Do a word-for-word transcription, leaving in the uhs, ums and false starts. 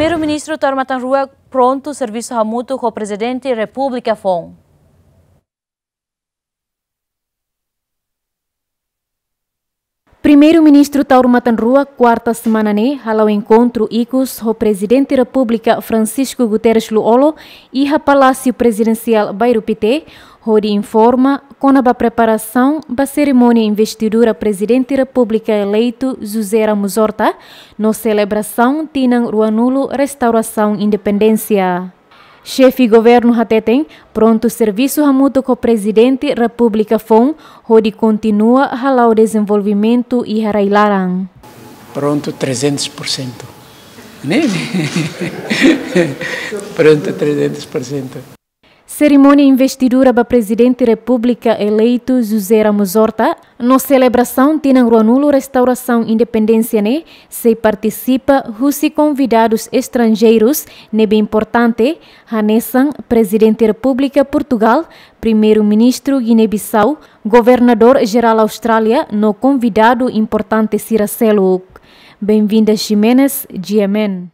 Primeiru-Ministru Taur Matan Ruak prontu servisu hamutuk ho Prezidente Repúblika foun. Primeiru-Ministru Taur Matan Ruak, kuarta semana ne'e, hala'o enkontru ikus ho Prezidente Repúblika Francisco Guterres Lú-Olo iha Palásiu Prezidensiál Bairru Pité, hodi informa kona-ba preparasaun ba serimónia investidura Prezidente Repúblika eleitu José Ramos Horta no selebrasaun tinan ruanulu restaurasaun independénsia. Xefe Governu hateten prontu servisu hamutuk ho Prezidente Repúblika foun hodi kontinua hala'o dezenvolvimentu iha rai-laran. Prontu trezentos por cento. Ne'e? Prontu trezentos por cento. Serimónia investidura ba Prezidente Repúblika eleitu José Ramos Horta no selebrasaun tinan ruanulu restaurasaun independénsia ne'e sei partisipa husi konvidadus estranjeirus ne'ebé importante, hanesan Prezidente Repúblika Portugál, Primeiru-Ministru Giné-Bisau, Governadór Jerál Austrália no konvidadu importante sira seluk. Benvinda Ximenes, G M N.